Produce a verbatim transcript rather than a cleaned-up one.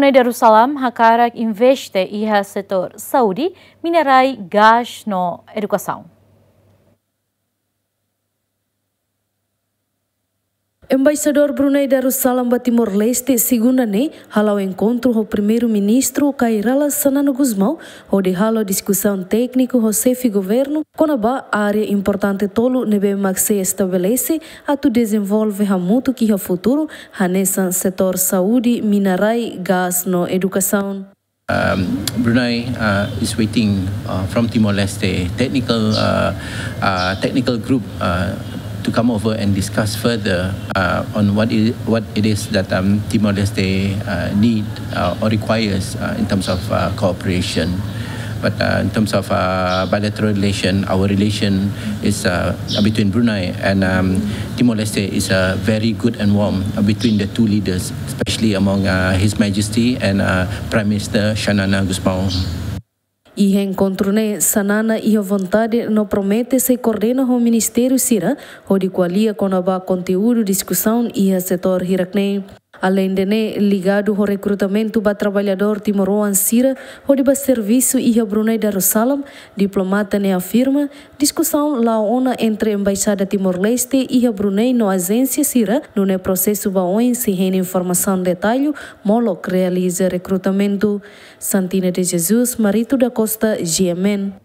Brunei Darussalam hakarak investe iha setór saúde, minerais, gás no edukasaun. Embaixadór Brunei Darussalam ba Timor-Leste, segunda ne'e, hala'o enkontru ho Primeiru-Ministru Kay Rala Xanana Gusmão, hodi halo diskusaun tékniku ho xefe governu kona-ba área importante tolu ne'ebé mak sei estabelese atu dezenvolve hamutuk iha futuru, hanesan setór saúde, minerais, gás no edukasaun. Um, Brunei uh, is waiting uh, from Timor-Leste technical uh, uh, technical group uh, to come over and discuss further uh, on what it, what it is that um, Timor-Leste uh, need uh, or requires uh, in terms of uh, cooperation. But uh, in terms of uh, bilateral relation, our relation is uh, between Brunei and um, Timor-Leste is uh, very good and warm uh, between the two leaders, especially among uh, His Majesty and uh, Prime Minister Xanana Gusmão. Iha enkontru ne'e, Xanana iha vontade no promete sei koordena ho ministériu sira hodi ko'alia kona-ba konteúdu diskusaun iha setór hirak-ne'e. Aleinde ne'e, ligadu ho rekrutamentu ba traballadór timoroan sira hodi ba servisu iha Brunei Darussalam, diplomata ne'e afirma, diskusaun la'o ona entre Embaixada Timor-Leste iha Brunei no ajénsia sira, nune'e prosesu ba oin sei hein informasaun detallu molok realiza rekrutamentu. Santina de Jesus, Marito da Costa, G M N.